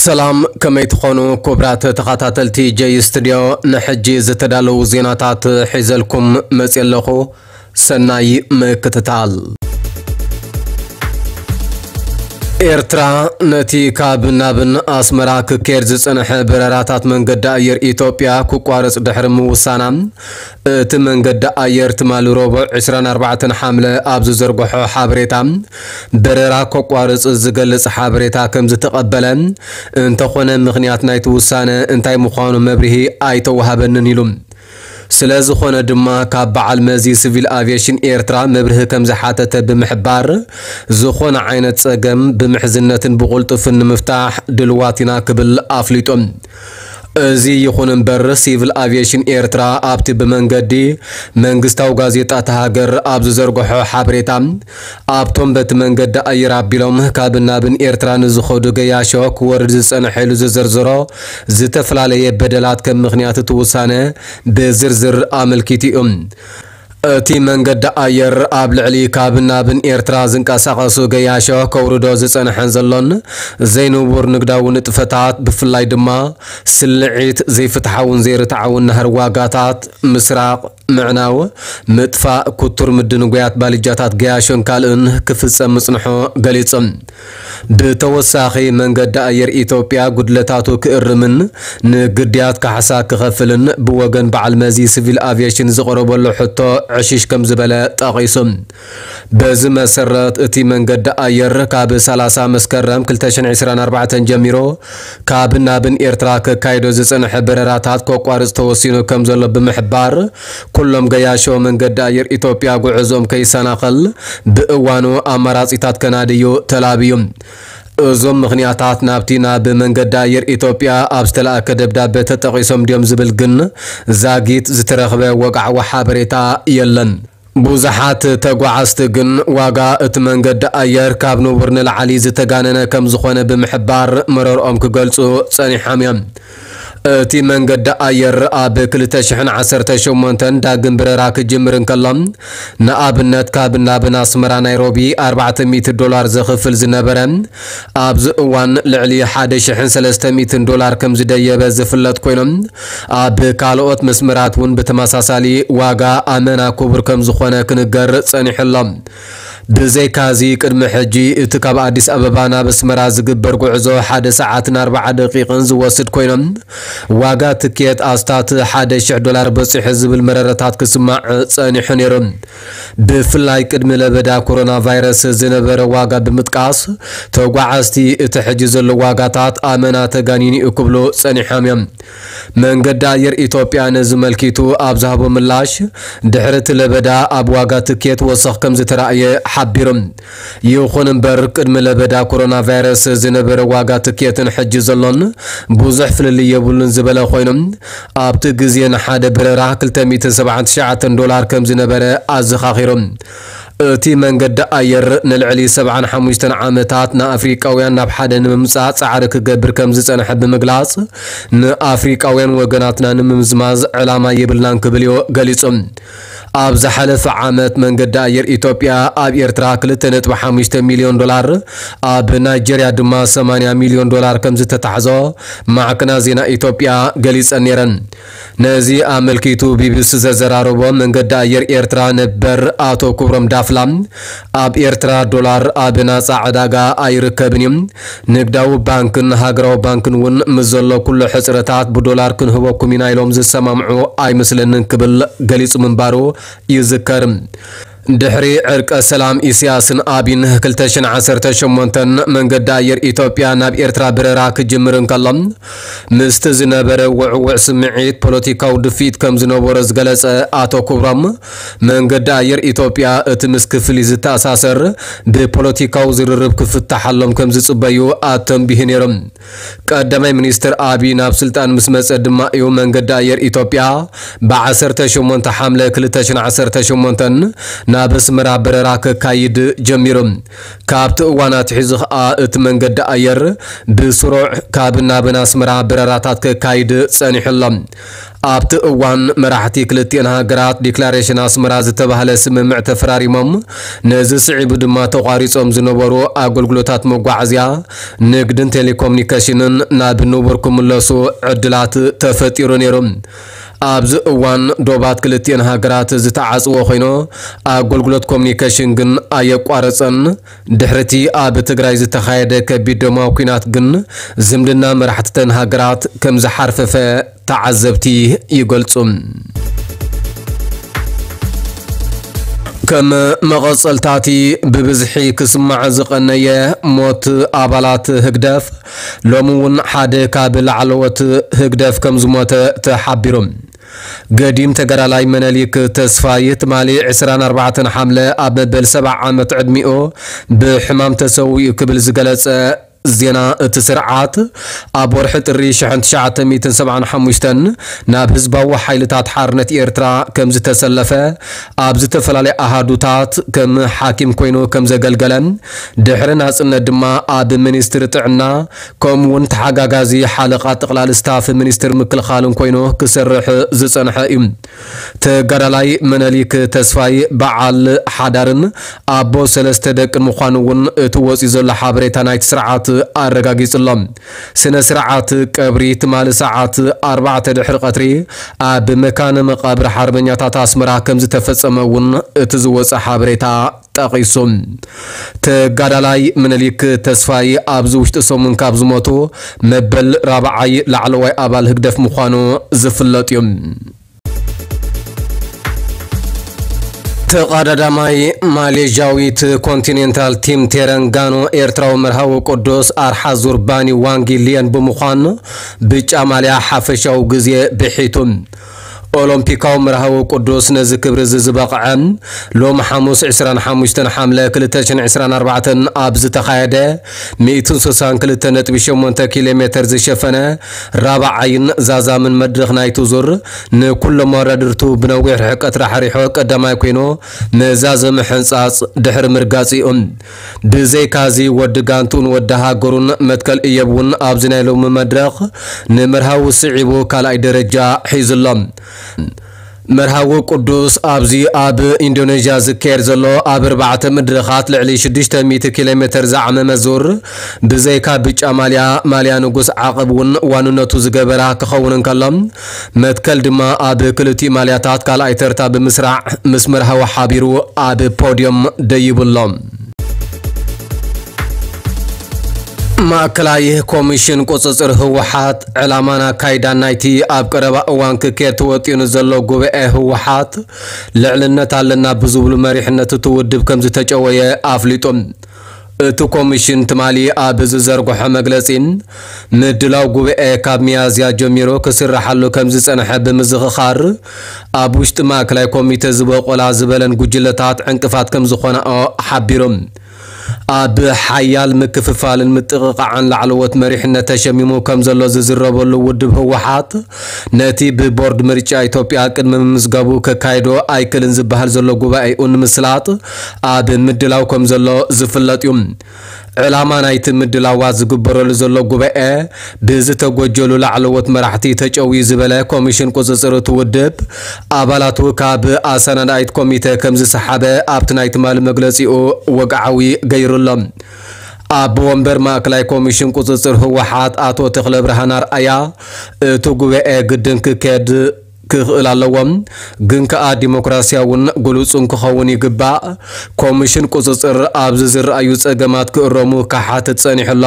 ሰላም፣ ከመይ ትኾኑ ክቡራት ተኸታተልቲ ጀይ ስቱድዮ? ንሕጂ ዝተዳለዉ ዜናታት ሒዘልኩም መፅየ ኣለኹ። ሰናይ ምክትታል። ኤርትራ ነቲ ካብ ናብን ኣስመራ ክካየድ ዝጸንሐ በረራታት መንገዲ ኣየር ኢትዮጵያ ክቋረጽ ድሕሪ ምውሳና፣ እቲ መንገዲ ኣየር ትማሊ ረቡዕ ዕስራን ኣርባዕተን ሓምለ ኣብ ዝዘርግሖ ሓበሬታ፣ በረራ ከቋርጽ ዝገልጽ ሓበሬታ ከም ዝተቐበለ፣ እንተኾነ ምኽንያት ናይቲ ውሳነ እንታይ ምዃኑ መብርሂ ኣይተዋህበንን ኢሉ። ስለ ዝኾነ ድማ ካብ በዓል መዚ ሲቪል ኣቪየሽን ኤርትራ መብርሂ ከም ዝሓተተ ብምሕባር፣ ዝኾነ ዓይነት ጸገም ብምሕዝነትን ብቕልጡፍን ንምፍታሕ ድልዋት ኢና ክብል ኣፍሊጡ። እዚ ይኹን እምበር፣ ሲቪል ኣቪየሽን ኤርትራ ኣብቲ ብመንገዲ መንግስታዊ ጋዜጣ እታ ሃገር ኣብ ዝዘርግሖ ሓበሬታ፣ ኣብቶም በቲ መንገዲ ኣየር ኣቢሎም ካብ ናብን ኤርትራ ንዝኸዱ ገያሾ ክወርድ ዝጸንሐ ኢሉ ዝዘርዘሮ ዝተፈላለየ በደላት ከም ምኽንያት እቲ ውሳነ ብዝርዝር ኣመልኪቱ እዩ። እቲ መንገዲ ኣየር ኣብ ልዕሊ ካብ ናብን ኤርትራ ዝንቀሳቐሱ ገያሾ ከውርዶ ዝጸንሐን ዘሎን ዘይንቡር ንግዳዊ ንጥፈታት፣ ብፍላይ ድማ ስልዒት ዘይፍትሓውን ዘይርትዓውን ናህሪ ዋጋታት፣ ምስራቕ፣ ምዕናው፣ ምጥፋእ፣ ክቱር ምድንጓያት ባልጃታት ገያሾን ካልእን ክፍጸም ምጽንሖ ገሊጹ። ብተወሳኺ መንገዲ ኣየር ኢትዮጵያ ጉድለታቱ ክእርምን ንግድያት ካሕሳ ክኸፍልን ብወገን በዓል መዚ ሲቪል ኣቪየሽን ዝቐረበሉ ሕቶ ዕሽሽ ከም ዝበለ ጠቒሱ። በዚ መሰረት እቲ መንገዲ ኣየር ካብ ሰላሳ መስከረም ክልተ ሽሕን ዕስራን ኣርባዕተን ጀሚሩ ካብ ናብን ኤርትራ ከካይዶ ዝጸንሐ በረራታት ከቋርጽ ተወሲኑ ከም ዘሎ ብምሕባር፣ ኩሎም ገያሾ መንገዲ ኣየር ኢትዮጵያ ጉዕዞም ከይሰናኸል ብእዋኑ ኣማራጺታት ከናድዩ ተላብዩ። እዞም ምኽንያታት ናብቲ ናብ መንገዲ ኣየር ኢትዮጵያ ኣብ ዝተላእከ ደብዳበ ተጠቒሶም ድዮም ዝብል ግን ዛጊት ዝተረኽበ ወግዓዊ ሓበሬታ የለን። ብዙሓት ተጓዓዝቲ ግን ዋጋ እቲ መንገዲ ኣየር ካብ ንቡር ንላዕሊ ዝተጋነነ ከም ዝኾነ ብምሕባር መረርኦም ክገልጹ ጸኒሖም እዮም። እቲ መንገዲ ኣየር ኣብ ክልተ ሽሕን ዓሰርተ ሸሞንተን ዳግም በረራ ክጅምር እንከሎ፣ ንኣብነት ካብ ናብን ኣስመራ ናይሮቢ ኣርባዕተ ሚእቲ ዶላር ዘኽፍል ዝነበረ፣ ኣብዚ እዋን ልዕሊ ሓደ ሽሕን ሰለስተ ሚእትን ዶላር ከም ዝደየበ ዝፍለጥ ኮይኑ፣ ኣብ ካልኦት መስመራት እውን ብተመሳሳሊ ዋጋ ኣመና ክቡር ከም ዝኾነ ክንገር ጸኒሑ ኣሎ። ብዘይካዚ፣ ቅድሚ ሕጂ እቲ ካብ ኣዲስ ኣበባ ናብ ኣስመራ ዝግበር ጉዕዞ ሓደ ሰዓትን ኣርባዓ ደቂቕን ዝወስድ ኮይኖም፣ ዋጋ ትኬት ኣስታት ሓደ ሽሕ ዶላር በጺሑ ዝብል መረረታት ክስማዕ ጸኒሑ ነይሩ። ብፍላይ ቅድሚ ለበዳ ኮሮና ቫይረስ ዝነበረ ዋጋ ብምጥቃስ፣ ተጓዓዝቲ እቲ ሕጂ ዘሎ ዋጋታት ኣመና ተጋኒኑ እዩ ክብሉ ጸኒሖም እዮም። መንገዲ ኣየር ኢትዮጵያ ነዚ መልኪቱ ኣብ ዝሃቦ ምላሽ፣ ድሕሪ እቲ ለበዳ ኣብ ዋጋ ትኬት ወሰኽ ከም ዝተራእየ ሓቢሩ። ይኹን እምበር፣ ቅድሚ ለበዳ ኮሮና ቫይረስ ዝነበረ ዋጋ ትኬትን ሕጂ ዘሎን ብዙሕ ፍልልይ የብሉን ዝበለ ኮይኑ፣ ኣብቲ ግዜ ንሓደ በረራ ክልተ ሚእትን ሰብዓን ትሽዓተን ዶላር ከም ዝነበረ ኣዘኻኺሩ። እቲ መንገዲ ኣየር ንልዕሊ ሰብዓን ሓሙሽተን ዓመታት ንኣፍሪቃውያን ናብ ሓደ ንምምጻእ ጻዕሪ ክገብር ከም ዝጸንሐ ብምግላጽ፣ ንኣፍሪቃውያን ወገናትና ንምምዝማዝ ዕላማ የብልናን ክብል እዩ ገሊጹ። ኣብ ዝሓለፈ ዓመት መንገዲ ኣየር ኢትዮጵያ ኣብ ኤርትራ ክልተ ነጥቢ ሓሙሽተ ሚልዮን ዶላር፣ ኣብ ናይጀርያ ድማ ሰማንያ ሚልዮን ዶላር ከም ዝተታሕዞ ማዕከናት ዜና ኢትዮጵያ ገሊጸን ነይረን። ነዚ ኣመልኪቱ ቢቢሲ ዘዘራረቦ መንገዲ ኣየር ኤርትራ ነበር ኣቶ ክብሮም ዳፍላ፣ ኣብ ኤርትራ ዶላር ኣብ ናጻ ዕዳጋ ኣይርከብን እዩ። ንግዳዊ ባንክን ሃገራዊ ባንክን እውን ምስ ዘሎ ኩሉ ሕጽረታት ብዶላር ክንህበኩም ኢና ኢሎም ዝሰማምዑ ኣይመስለንን ክብል ገሊጹ ምንባሩ ይዝከር። ድሕሪ ዕርቀ ሰላም ኢሳያስን ኣቢን ክልተ ሽሕን ዓሰርተ ሸሞንተን መንገዲ ኣየር ኢትዮጵያ ናብ ኤርትራ በረራ ክጅምር እንከሎ፣ ምስቲ ዝነበረ ውዕውዕ ስምዒት ፖለቲካዊ ድፍኢት ከም ዝነበሮ ዝገለጸ ኣቶ ክብሮም፣ መንገዲ ኣየር ኢትዮጵያ እቲ ምስ ክፍሊ ዝተኣሳሰር ብፖለቲካዊ ዝርርብ ክፍታሓሎም ከም ዝጽበዩ ኣተንቢሁ ነይሩ። ቀዳማይ ሚኒስትር ኣቢይ ናብ ስልጣን ምስ መጸ ድማ እዩ መንገዲ ኣየር ኢትዮጵያ ብዓሰርተ ሸሞንተ ሓምለ ክልተ ሽሕን ዓሰርተ ሸሞንተን ናብ ኣስመራ በረራ ከካይድ ጀሚሩ። ካብቲ እዋን ኣትሒዙ ኸኣ እቲ መንገዲ ኣየር ብስሩዕ ካብ ናብን ኣስመራ በረራታት ከካይድ ጸኒሑ ኣሎ። ኣብቲ እዋን መራሕቲ ክልቲኤን ሃገራት ዲክላሬሽን ኣስመራ ዝተባህለ ስምምዕ ተፈራሪሞም፣ ነዚ ስዒቡ ድማ ተቋሪጾም ዝነበሩ ኣገልግሎታት መጓዓዝያ፣ ንግድን ቴሌኮሙኒኬሽንን ናብ ንቡር ክምለሱ ዕድላት ተፈጢሩ ነይሩ። ኣብዚ እዋን ዶባት ክልቲኤን ሃገራት ዝተዓጽዎ ኮይኑ፣ ኣገልግሎት ኮሙኒኬሽን ግን ኣየቋረጸን። ድሕሪቲ ኣብ ትግራይ ዝተኻየደ ከቢድ ደማዊ ኲናት ግን ዝምድና መራሕትተን ሃገራት ከም ዝሓርፈፈ ተዓዘብቲ ይገልጹ። ከም መቐጸልታቲ ብብዝሒ ክስማዕ ዝቐነየ ሞት ኣባላት ህግደፍ፣ ሎሚ እውን ሓደ ካብ ላዕለዎት ህግደፍ ከም ዝሞተ ተሓቢሩ። ገዲም ተጋዳላይ መነሊክ ተስፋይ ትማሊ ዕስራን ኣርባዕተን ሓምለ ኣብ መበል ሰብዓ ዓመት ዕድሚኡ ብሕማም ተሰዊኡ ክብል ዝገለጸ ዜና እቲ ስርዓት፣ ኣብ ወርሒ ጥሪ ሽሕን ትሽዓተ ሚእትን ሰብዓን ሓሙሽተን ናብ ህዝባዊ ሓይልታት ሓርነት ኤርትራ ከም ዝተሰለፈ፣ ኣብ ዝተፈላለያ ኣሃዱታት ከም ሓኪም ኮይኑ ከም ዘገልገለ፣ ድሕሪ ናጽነት ድማ ኣብ ሚኒስትሪ ጥዕና ከምኡ እውን ተሓጋጋዚ ሓለቓ ጠቕላሊ ስታፍ ሚኒስትሪ ምክልኻልን ኮይኑ ክሰርሕ ዝጸንሐ እዩ። ተጋዳላይ መነሊክ ተስፋይ በዓል ሓዳርን ኣቦ ሰለስተ ደቅን ምዃኑ እውን እቲ ወፂኡ ዘሎ ሓበሬታ ናይቲ ስርዓት ኣረጋጊጹ ኣሎ። ስነ ስርዓት ቀብሪ ትማሊ ሰዓት ኣርባዕተ ድሕሪ ቀትሪ ኣብ መካነ መቃብር ሓርበኛታት ኣስመራ ከም ዝተፈጸመ እውን እቲ ዝወፀ ሓበሬታ ጠቒሱ። ተጋዳላይ ምኒልክ ተስፋይ ኣብዚ ውሽጢ ሰሙን ካብ ዝሞቱ መበል ራብዓይ ላዕለዋይ ኣባል ህግደፍ ምዃኑ ዝፍለጥ እዩ። ተቐዳዳማይ ማሌዥያዊት ኮንቲኔንታል ቲም ቴረንጋኖ ኤርትራዊ መርሃዊ ቅዱስ ኣርሓ ዙር ባኒ ዋንጊ ሊየን ብምዃን ብጫ ማልያ ሓፈሻዊ ግዜ ብሒቱ። ኦሎምፒካዊ መርሃዊ ቅዱስ ነዚ ክብሪ እዚ ዝበቕዐ፣ ሎሚ ሓሙስ ዕስራን ሓሙሽተን ሓምለ ክልተ ሽሕን ዕስራን ኣርባዕተን ኣብ ዝተኻየደ ሚእትን ስሳን ክልተ ነጥቢ ሸሞንተ ኪሎ ሜተር ዝሸፈነ ራብዓይን ዛዛምን መድረኽ ናይቲ ዙር፣ ንኩሎም መወዳድርቱ ብነዊሕ ርሕቀት ራሕሪሖ ቀዳማይ ኮይኑ፣ ንዛዘመ ሕንጻጽ ድሕሪ ምርጋጽ እዩ። ብዘይካዚ፣ ወዲ ጋንቱን ወዲ ሃገሩን መትከል እዮብ እውን ኣብዚ ናይ ሎሚ መድረኽ ንመርሃዊ ስዒቡ ካልኣይ ደረጃ ሒዙ ኣሎ። መርሃዊ ቅዱስ ኣብዚ ኣብ ኢንዶኔዥያ ዝካየድ ዘሎ ኣብ ኣርባዕተ መድረኻት ልዕሊ ሽዱሽተ ሚእቲ ኪሎ ሜተር ዝዓመመ ዙር፣ ብዘይካ ብጫ ማልያ፣ ማልያ ንጉስ ዓቐብ እውን ዋንነቱ ዝገበራ ክኸውን እንከሎ፣ መትከል ድማ ኣብ ክልቲኡ ማልያታት ካልኣይ ተርታ ብምስራዕ ምስ መርሃዊ ሓቢሩ ኣብ ፖድዮም ደይቡ ኣሎ። ማእከላይ ኮሚሽን ቁጽጽር ህወሓት ዕላማን ኣካይዳን ናይቲ ኣብ ቀረባ እዋን ክካየድ ተወጢኑ ዘሎ ጉባኤ ህወሓት ልዕልነት ኣለና ብዝብሉ መሪሕነት እቲ ውድብ ከም ዝተጨወየ ኣፍሊጡ። እቲ ኮሚሽን ትማሊ ኣብ ዝዘርግሖ መግለጺ፣ ምድላው ጉባኤ ካብ ሚያዝያ ጀሚሩ ክስርሓሉ ከም ዝጸንሐ ብምዝኽኻር፣ ኣብ ውሽጢ ማእከላይ ኮሚተ ዝበቆላ ዝበለን ጉጅለታት ዕንቅፋት ከም ዝኾናኦ ሓቢሩ። ኣብ ሓያል ምክፍፋልን ምጥቕቓዕን ላዕለዎት መሪሕነት ተሸሚሙ ከም ዘሎ ዝዝረበሉ ውድብ ህወሓት፣ ነቲ ብቦርድ ምርጫ ኢትዮጵያ ቅድሚ ምምዝጋቡ ከካይዶ ኣይክልን ዝበሃል ዘሎ ጉባኤኡ ንምስላጥ ኣብ ምድላው ከም ዘሎ ዝፍለጥ እዩ። ዕላማ ናይቲ ምድላዋት ዝግበረሉ ዘሎ ጉባኤ ብዝተጎጀሉ ላዕለዎት መራሕቲ ተጨውዩ ዝበለ ኮሚሽን ቁጽጽር እቲ ውድብ፣ ኣባላቱ ካብ ኣሰናዳኢት ኮሚተ ከም ዝሰሓበ ኣብቲ ናይ ትማሊ መግለጺኡ ወግዓዊ ገይሩ ኣሎ። ኣቦ ወንበር ማእከላይ ኮሚሽን ቁጽጽር ህወሓት ኣቶ ተኽለ ብርሃን ኣርኣያ፣ እቲ ጉባኤ ግድን ክካየድ ክኽእል ኣለዎ፣ ግን ከኣ ዲሞክራሲያውን ግሉጽን ክኸውን ይግባእ። ኮሚሽን ቁጽጽር ኣብዚ ዝረኣዩ ጸገማት ክእረሙ ክሓትት ጸኒሑ ኣሎ፣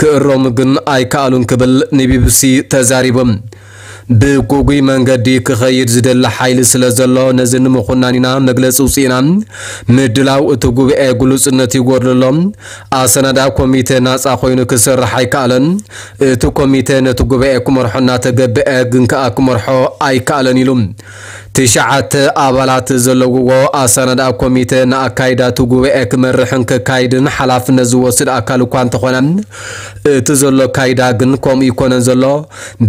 ክእረሙ ግን ኣይከኣሉን ክብል ንቢቢሲ ተዛሪቡ። ብጉጉይ መንገዲ ክኸይድ ዝደሊ ሓይሊ ስለ ዘሎ፣ ነዚ ንምኹናን ኢና መግለጺ ውጺእና። ምድላው እቲ ጉባኤ ግሉጽነት ይጎድሎ ኣሎ። ኣሰናዳኢ ኮሚተ ናጻ ኮይኑ ክሰርሕ ኣይከኣለን። እቲ ኮሚተ ነቲ ጉባኤ ክመርሖ እናተገብአ፣ ግን ከኣ ክመርሖ ኣይከኣለን ኢሉ። ትሽዓተ ኣባላት ዘለውዎ ኣሰናዳኢ ኮሚተ ንኣካይዳ እቲ ጉባኤ ክመርሕን ከካይድን ሓላፍነት ዝወስድ ኣካል እኳ እንተኾነ፣ እቲ ዘሎ ኣካይዳ ግን ከምኡ ይኮነን ዘሎ፣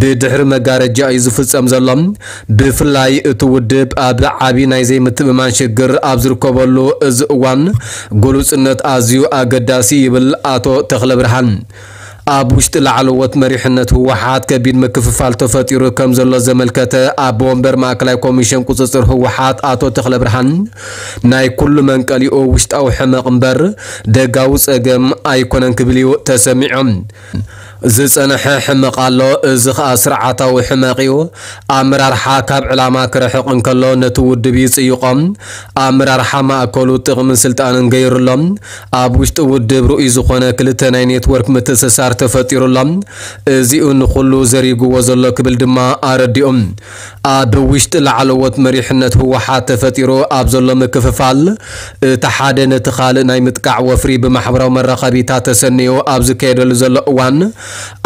ብድሕሪ መጋረጃ እዩ ዝፍጸም ዘሎ። ብፍላይ እቲ ውድብ ኣብ ዓቢ ናይ ዘይምትእምማን ሽግር ኣብ ዝርከበሉ እዚ እዋን፣ ግሉጽነት ኣዝዩ ኣገዳሲ ይብል ኣቶ ተኽለ ብርሃን። ኣብ ውሽጢ ላዕለዎት መሪሕነት ህወሓት ከቢድ ምክፍፋል ተፈጢሩ ከም ዘሎ ዘመልከተ ኣቦ ወንበር ማእከላይ ኮሚሽን ቁፅፅር ህወሓት ኣቶ ተኽለ ብርሃን፣ ናይ ኩሉ መንቀሊኡ ውሽጣዊ ሕመቕ እምበር ደጋዊ ፀገም ኣይኮነን ክብል እዩ ተሰሚዖም። ዝፀንሐ ሕመቕ ኣሎ፣ እዚ ኸኣ ስርዓታዊ ሕመቕ እዩ። ኣመራርሓ ካብ ዕላማ ክርሕቕ እንከሎ ነቲ ውድብ ይጽይቖም። ኣመራርሓ ማእከሉ ጥቕምን ስልጣንን ገይሩሎም። ኣብ ውሽጢ ውድብ ርኡይ ዝኾነ ክልተ ናይ ኔትወርክ ምትእስሳር ተፈጢሩሎም። እዚኡ ንኹሉ ዘሪግዎ ዘሎ ክብል ድማ ኣረዲኦም። ኣብ ውሽጢ ላዕለዎት መሪሕነት ህወሓት ተፈጢሩ ኣብ ዘሎ ምክፍፋል፣ እቲ ሓደ ነቲ ካልእ ናይ ምጥቃዕ ወፍሪ ብማሕበራዊ መራኸቢታት ተሰንዩ ኣብ ዝካየደሉ ዘሎ እዋን፣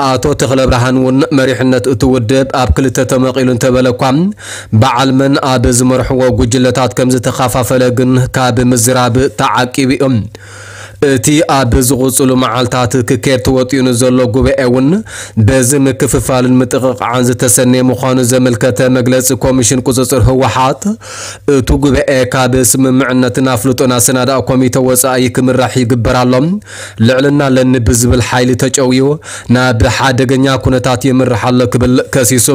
ኣቶ ተኽለ ብርሃን እውን መሪሕነት እቲ ውድብ ኣብ ክልተ ተመቒሉ እንተበለ እኳ፣ በዓል መን ኣብ ዝመርሕዎ ጉጅለታት ከም ዝተኸፋፈለ ግን ካብ ምዝራብ ተዓቂቡ እዩ። እቲ ኣብ ዝቕጽሉ መዓልታት ክካየድ ተወጢኑ ዘሎ ጉባኤ እውን በዚ ምክፍፋልን ምጥቕቓዕን ዝተሰነየ ምዃኑ ዘመልከተ መግለጺ ኮሚሽን ቁጽጽር ህወሓት፣ እቲ ጉባኤ ካብ ስምምዕነትን ኣፍልጦን ኣሰናዳኢ ኮሚተ ወጻኢ ክምራሕ ይግበር ኣሎ። ልዕልና ኣለኒ ብዝብል ሓይሊ ተጨውዩ ናብ ሓደገኛ ኩነታት ይምራሕ ኣሎ ክብል ከሲሱ።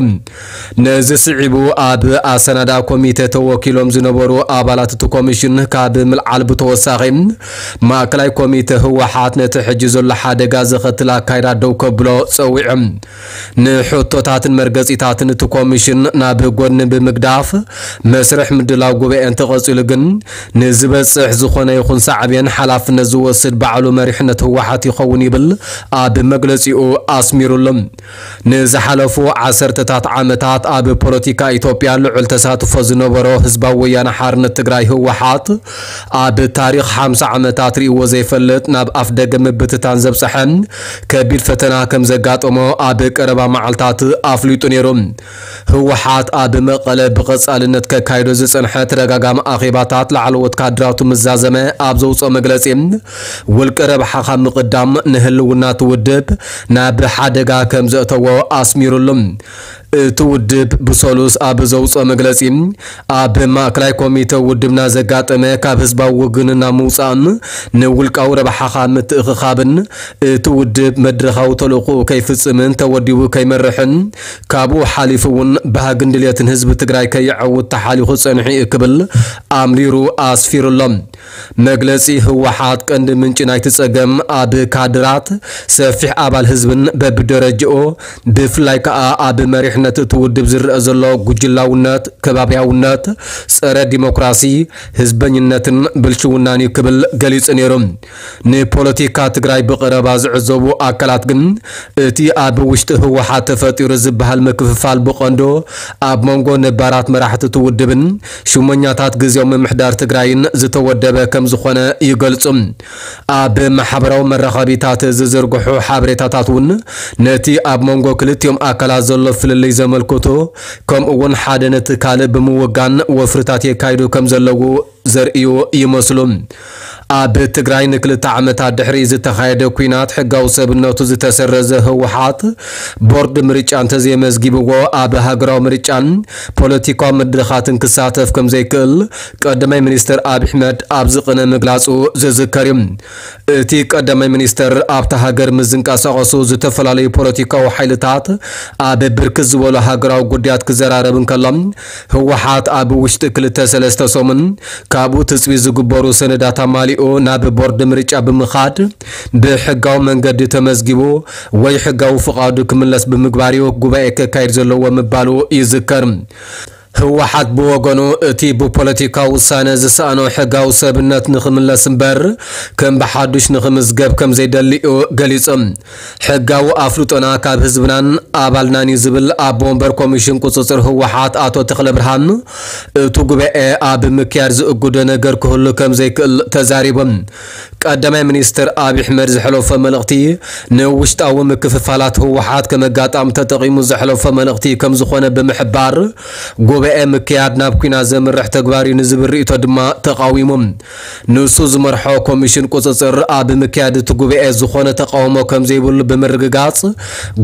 ነዚ ስዒቡ ኣብ ኣሰናዳ ኮሚተ ተወኪሎም ዝነበሩ ኣባላት እቲ ኮሚሽን ካብ ምልዓል ብተወሳኺ፣ ማእከላይ ኮሚተ ህወሓት ነቲ ሕጂ ዘሎ ሓደጋ ዘኸትል ኣካይዳ ደው ከብሎ ጸዊዑ። ንሕቶታትን መርገጺታትን እቲ ኮሚሽን ናብ ጎድኒ ብምግዳፍ፣ መስርሕ ምድላው ጉባኤ እንተቐጺሉ ግን ንዝበጽሕ ዝኾነ ይኹን ሳዕቤን ሓላፍነት ዝወስድ ባዕሉ መሪሕነት ህወሓት ይኸውን ይብል ኣብ መግለጺኡ ኣስሚሩሉ። ንዝሓለፉ ዓሰርተታት ዓመታት ኣብ ፖለቲካ ኢትዮጵያ ልዑል ተሳትፎ ዝነበሮ ህዝባዊ ወያነ ሓርነት ትግራይ ህወሓት፣ ኣብ ታሪኽ ሓምሳ ዓመታት ርእይዎ ዘይፈልጥ ናብ ኣፍደገ ምብትታን ዘብጽሐ ከቢድ ፈተና ከም ዘጋጠሞ ኣብ ቀረባ መዓልታት ኣፍሊጡ ነይሩ። ህወሓት ኣብ መቐለ ብቐጻልነት ከካይዶ ዝጸንሐ ተደጋጋሚ ኣኼባታት ላዕለዎት ካድራቱ ምስ ዛዘመ ኣብ ዘውጽኦ መግለጺ፣ ውልቀ ረብሓኻ ምቕዳም ንህልውና እቲ ውድብ ናብ ሓደጋ ከም ዘእተዎ ኣስሚሩሉ። እቲ ውድብ ብሰሉስ ኣብ ዘውጽኦ መግለጺ፣ ኣብ ማእከላይ ኮሚተ ውድብና ዘጋጠመ ካብ ህዝባዊ ውግንና ምውጻእን ንውልቃዊ ረብሓኻ ምትእኽኻብን፣ እቲ ውድብ መድረኻዊ ተልእኾኡ ከይፍጽምን ተወዲቡ ከይመርሕን፣ ካብኡ ሓሊፉ እውን ባህግን ድልየትን ህዝቢ ትግራይ ከየዐውት ተሓሊኹ ጸኒሑ እዩ ክብል ኣምሪሩ ኣስፊሩሎም። መግለጺ ህወሓት ቀንዲ ምንጪ ናይቲ ጸገም ኣብ ካድራት፣ ሰፊሕ ኣባል ህዝብን በብደረጃኡ፣ ብፍላይ ከኣ ኣብ መሪሕነት እቲ ውድብ ዝረአ ዘሎ ጉጅላውነት፣ ከባብያውነት፣ ጸረ ዲሞክራሲ፣ ህዝበኝነትን ብልሽውናን እዩ ክብል ገሊጹ ነይሩ። ንፖለቲካ ትግራይ ብቐረባ ዝዕዘቡ ኣካላት ግን እቲ ኣብ ውሽጢ ህወሓት ተፈጢሩ ዝበሃል ምክፍፋል ብቐንዱ ኣብ መንጎ ነባራት መራሕቲ እቲ ውድብን ሽመኛታት ግዜያዊ ምምሕዳር ትግራይን ዝተወደበ ከም ዝኾነ ይገልጹ። ኣብ ማሕበራዊ መራኸቢታት ዝዝርግሑ ሓበሬታታት እውን ነቲ ኣብ መንጎ ክልቲኦም ኣካላት ዘሎ ፍልልይ ዘመልክቱ፣ ከምኡ እውን ሓደ ነቲ ካልእ ብምውጋን ወፍርታት የካይዱ ከም ዘለዉ ዘርእዩ ይመስሉ። ኣብ ትግራይ ንክልተ ዓመታት ድሕሪ ዝተኻየደ ኲናት ሕጋዊ ሰብነቱ ዝተሰረዘ ህወሓት፣ ቦርድ ምርጫ እንተዘየመዝጊብዎ ኣብ ሃገራዊ ምርጫን ፖለቲካዊ መድረኻትን ክሳተፍ ከም ዘይክእል ቀዳማይ ሚኒስትር ኣብይ ኣሕመድ ኣብ ዝቕነ ምግላጹ ዝዝከር እዩ። እቲ ቀዳማይ ሚኒስትር ኣብታ ሃገር ምስ ዝንቀሳቐሱ ዝተፈላለዩ ፖለቲካዊ ሓይልታት ኣብ ብርክት ዝበሉ ሃገራዊ ጉዳያት ክዘራረብ እንከሎ፣ ህወሓት ኣብ ውሽጢ ክልተ ሰለስተ ሰሙን ካብኡ ትጽቢት ዝግበሩ ሰነዳት ኣማሊኡ ናብ ቦርድ ምርጫ ብምኻድ ብሕጋዊ መንገዲ ተመዝጊቡ ወይ ሕጋዊ ፍቓዱ ክምለስ ብምግባር እዩ ጉባኤ ከካይድ ዘለዎ ምባሉ ይዝከር። ህወሓት ብወገኑ እቲ ብፖለቲካዊ ውሳነ ዝሰኣኖ ሕጋዊ ሰብነት ንኽምለስ እምበር ከም ብሓዱሽ ንኽምዝገብ ከም ዘይደሊ እዩ ገሊጹ። ሕጋዊ ኣፍልጦና ካብ ህዝብናን ኣባልናን እዩ ዝብል ኣቦ ወንበር ኮሚሽን ቁጽጽር ህወሓት ኣቶ ተኽለ ብርሃን፣ እቲ ጉባኤ ኣብ ምክያድ ዝእግዶ ነገር ክህሉ ከም ዘይክእል ተዛሪቡ። ቀዳማይ ሚኒስትር ኣብይ ኣሕመድ ዘሕለፎ መልእኽቲ ንውሽጣዊ ምክፍፋላት ህወሓት ከም ኣጋጣሚ ተጠቒሙ ዘሕለፎ መልእኽቲ ከም ዝኾነ ብምሕባር፣ ጉባኤ ምክያድ ናብ ኲናት ዘምርሕ ተግባር እዩ ንዝብል ርእይቶ ድማ ተቓዊሙ። ንሱ ዝመርሖ ኮሚሽን ቁጽጽር ኣብ ምክያድ እቲ ጉባኤ ዝኾነ ተቓውሞ ከም ዘይብሉ ብምርግጋጽ፣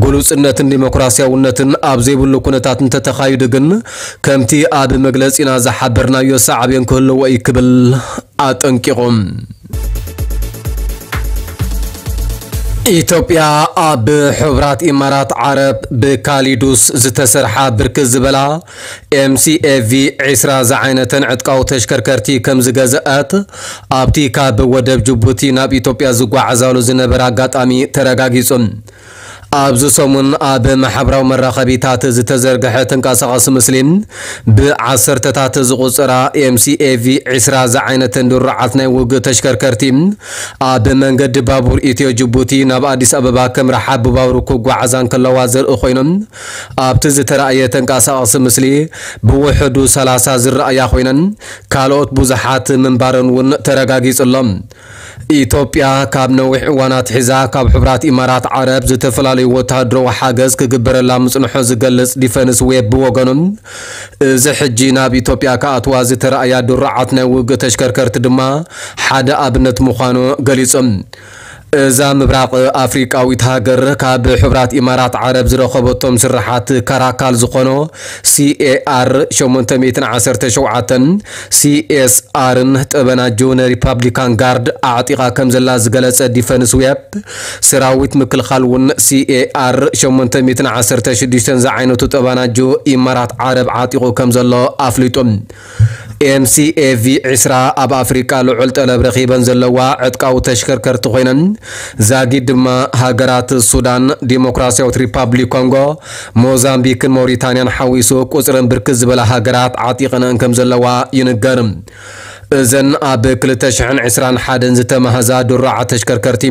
ግሉጽነትን ዲሞክራሲያውነትን ኣብ ዘይብሉ ኩነታት እንተተኻይዱ ግን ከምቲ ኣብ መግለጺና ዝሓበርናዮ ሳዕቤን ክህልዎ እዩ ክብል ኣጠንቂቑ። ኢትዮጵያ ኣብ ሕቡራት ኢማራት ዓረብ ብካሊዱስ ዝተሰርሓ ብርክት ዝበላ M C A V ዕስራ ዝዓይነተን ዕጥቃዊ ተሽከርከርቲ ከም ዝገዝአት ኣብቲ ካብ ወደብ ጅቡቲ ናብ ኢትዮጵያ ዝጓዓዛሉ ዝነበረ ኣጋጣሚ ተረጋጊጹ። ኣብዚ ሰሙን ኣብ ማሕበራዊ መራኸቢታት ዝተዘርግሐ ተንቀሳቓሲ ምስሊ፣ ብዓሰርተታት ዝቑጸራ M C A V ዕስራ ዝዓይነተን ድሩዓት ናይ ውግእ ተሽከርከርቲ ኣብ መንገዲ ባቡር ኢትዮ ጅቡቲ ናብ ኣዲስ ኣበባ ከም ረሓብ ብባቡር ክጓዓዛ እንከለዋ ዘርኢ ኮይኖም፣ ኣብቲ ዝተራእየ ተንቀሳቓሲ ምስሊ ብውሕዱ ሰላሳ ዝረኣያ ኮይነን፣ ካልኦት ብዙሓት ምንባረን እውን ተረጋጊጹ ኣሎ። ኢትዮጵያ ካብ ነዊሕ እዋን ኣትሒዛ ካብ ሕቡራት ኢማራት ዓረብ ዝተፈላለዩ ወተሃደራዊ ሓገዝ ክግበረላ ምጽንሖ ዝገልጽ ዲፈንስ ዌብ ብወገኑ፣ እዚ ሕጂ ናብ ኢትዮጵያ ክኣትዋ ዝተራእያ ድሩዓት ናይ ውግእ ተሽከርከርቲ ድማ ሓደ ኣብነት ምዃኑ ገሊጹ። እዛ ምብራቕ ኣፍሪቃዊት ሃገር ካብ ሕቡራት ኢማራት ዓረብ ዝረኸበቶም ስርሓት ካራካል ዝኾኖ C A R ሸሞንተ ሚእትን ዓሰርተ ሸውዓተን፣ C S R ን ጠበናጁ ንሪፓብሊካን ጋርድ ኣዕጢቓ ከም ዘላ ዝገለጸ ዲፈንስ ዌብ፣ ሰራዊት ምክልኻል እውን C A R ሸሞንተ ሚእትን ዓሰርተ ሽዱሽተን ዝዓይነቱ ጠበናጁ ኢማራት ዓረብ ዓጢቑ ከም ዘሎ ኣፍሊጡ። M C A V ዕስራ ኣብ ኣፍሪቃ ልዑል ጠለብ ረኺበን ዘለዋ ዕጥቃዊ ተሽከርከርቲ ኮይነን፣ ዛጊድ ድማ ሃገራት ሱዳን፣ ዲሞክራሲያዊት ሪፓብሊክ ኮንጎ፣ ሞዛምቢክን ሞሪታንያን ሓዊሱ ቁጽረን ብርክት ዝበላ ሃገራት ዓጢቐነን ከም ዘለዋ ይንገር። እዘን ኣብ ክልተ ሽሕን ዕስራን ሓደን ዝተማህዛ ድሩዓት ተሽከርከርቲ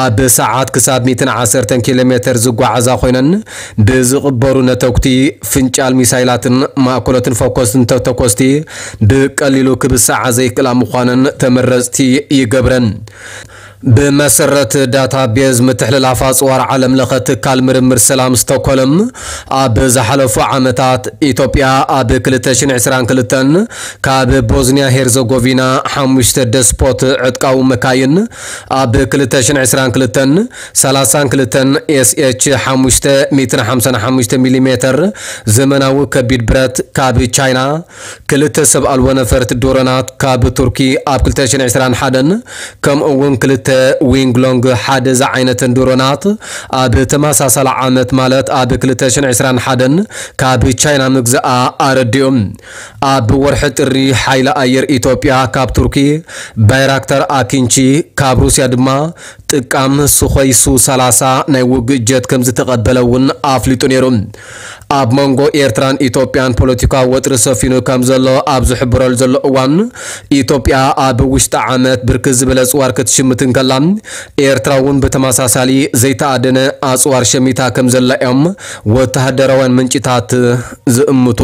ኣብ ሰዓት ክሳብ ሚእትን ዓሰርተን ኪሎ ሜተር ዝጓዓዛ ኮይነን፣ ብዝቕበሩ ነተጉቲ ፍንጫል ሚሳይላትን ማእኮሎትን ፈኮስትን ተተኮስቲ ብቀሊሉ ክብስዓ ዘይክእላ ምዃነን ተመረጽቲ ይገብረን። ብመሰረት ዳታቤዝ ምትሕልላፍ ኣጽዋር ዓለም ለኸ ትካል ምርምር ሰላም ስቶኮልም፣ ኣብ ዝሓለፉ ዓመታት ኢትዮጵያ ኣብ ክልተ ሽሕን ዕስራን ክልተን ካብ ቦዝኒያ ሄርዘጎቪና ሓሙሽተ ደስፖት ዕጥቃዊ መካይን፣ ኣብ ክልተ ሽሕን ዕስራን ክልተን ሰላሳን ክልተን S H ሓሙሽተ ሚእትን ሓምሳን ሓሙሽተ ሚሊሜተር ዘመናዊ ከቢድ ብረት ካብ ቻይና፣ ክልተ ሰብ ኣልቦ ነፈርቲ ድሮናት ካብ ቱርኪ ኣብ ክልተ ሽሕን ዕስራን ሓደን፣ ከምኡ እውን ክልተ ዊንግ ሎንግ ሓደ ዝዓይነተን ድሮናት ኣብ ተመሳሳሊ ዓመት ማለት ኣብ ክልተ ሽሕን ዕስራን ሓደን ካብ ቻይና ምግዛኣ ኣረዲኡ። ኣብ ወርሒ ጥሪ ሓይሊ ኣየር ኢትዮጵያ ካብ ቱርኪ ባይራክታር ኣኪንቺ፣ ካብ ሩስያ ድማ ጥቃም ሱኾይ ሱ ሰላሳ ናይ ውግእ ጀት ከም ዝተቐበለ እውን ኣፍሊጡ ነይሩ። ኣብ መንጎ ኤርትራን ኢትዮጵያን ፖለቲካዊ ወጥሪ ሰፊኑ ከም ዘሎ ኣብ ዝሕብረሉ ዘሎ እዋን፣ ኢትዮጵያ ኣብ ውሽጢ ዓመት ብርክት ዝበለ ኣጽዋር ክትሽምት እንከላ፣ ኤርትራ እውን ብተመሳሳሊ ዘይተኣደነ ኣጽዋር ሸሚታ ከም ዘላ እዮም ወተሃደራውያን ምንጭታት ዝእምቱ።